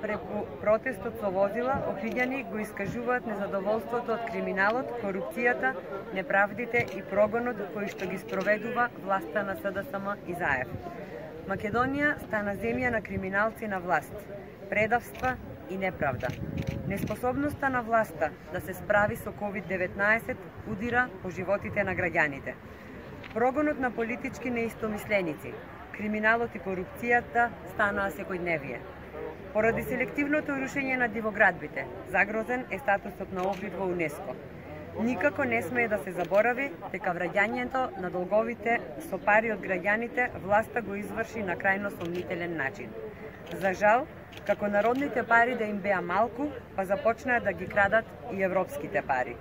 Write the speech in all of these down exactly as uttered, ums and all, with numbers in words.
Преку протестот со возила, Охриѓани го искажуваат незадоволството од криминалот, корупцијата, неправдите и прогонот кои што ги спроведува власта на СДСМ и ЗАЕФ. Македонија стана земја на криминалци на власт, предавства и неправда. Неспособноста на власта да се справи со ковид деветнаесет удира по животите на граѓаните. Прогонот на политички неистомисленици, криминалот и корупцијата станаа секојдневие. Поради селективното рушење на дивоградбите, загрозен е статусот на Охрид во УНЕСКО. Никако не смее да се заборави дека враќањето на долговите со пари од граѓаните власта го изврши на крајно сомнителен начин. За жал, како народните пари да им беа малку, па започнаа да ги крадат и европските пари.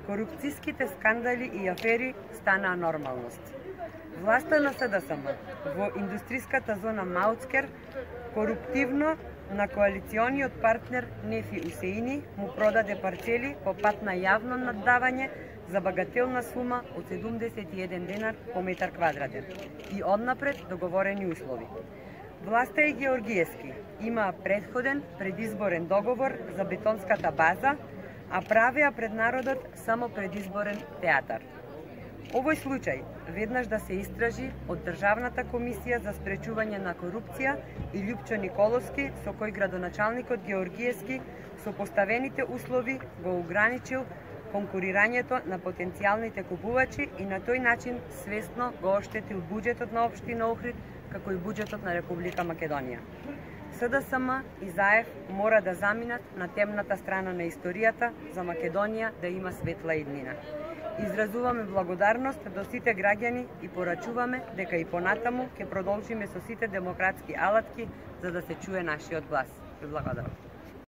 Корупцијските скандали и афери станаа нормалност. Власта на СДСМ во индустриската зона Маутскер коруптивно на коалициониот партнер Нефи Усеини му продаде парцели по пат на јавно наддавање за багателна сума од седумдесет и еден денар по метар квадратен и однапред договорени услови. Власта е георгиевски, имаа предходен предизборен договор за бетонската база, а правеа пред народот само предизборен театар. Овој случај веднаш да се истражи од Државната комисија за спречување на корупција и Љупчо Николовски, со кој градоначалникот Георгиевски со поставените услови го ограничил конкурирањето на потенцијалните купувачи и на тој начин свесно го оштетил буџетот на општина Охрид, како и буџетот на Република Македонија. СДСМ и ЗАЕФ мора да заминат на темната страна на историјата за Македонија да има светла иднина. Изразуваме благодарност до сите граѓани и порачуваме дека и понатаму ќе продолжиме со сите демократски алатки за да се чуе нашиот глас. Ви благодарам.